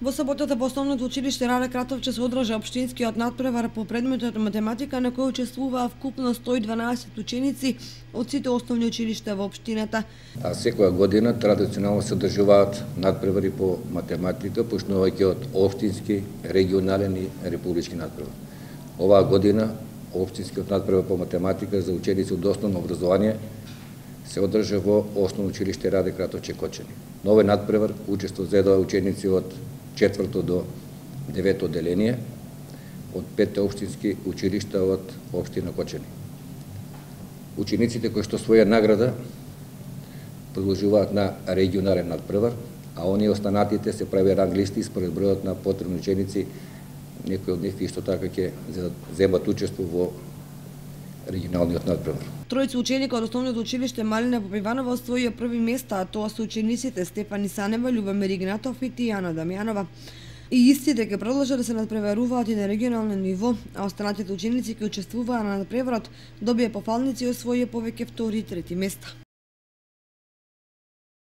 Во саботата во Основното училиште Раде Кратовче се одржа општинскиот надпревар по предметот математика на кој учествуваа вкупно 112 ученици од сите основни училишта во општината. А секоја година традиционално се одржуваат надпревари по математика, почнувајќи од општински, регионален и републички надпревар. Оваа година општинскиот надпревар по математика за ученици од основно образование се одржа во Основно училиште Раде Кратовче Кочани. На овој надпревар учество зедоа ученици од 4 до 9 одделение од 5 општински училишта од општина Кочани. Учениците кои што своја награда продолжуваат на регионален надпревар, а оние останатите се прави ранг листи според бројот на потребни ученици. Некои од нив исто така ќе земат учество во регионалниот надпревар. Тројца ученика од Основното училиште Малина Попиванова освоија први места, а тоа се учениците Стефани Санева, Љубомир Игнатов и Тијана Дамјанова. И истите ќе продолжат да се надпреваруваат и на регионално ниво, а останатите ученици кои учествуваа на надпреварот добија пофалници и освоија повеќе втори и трети места.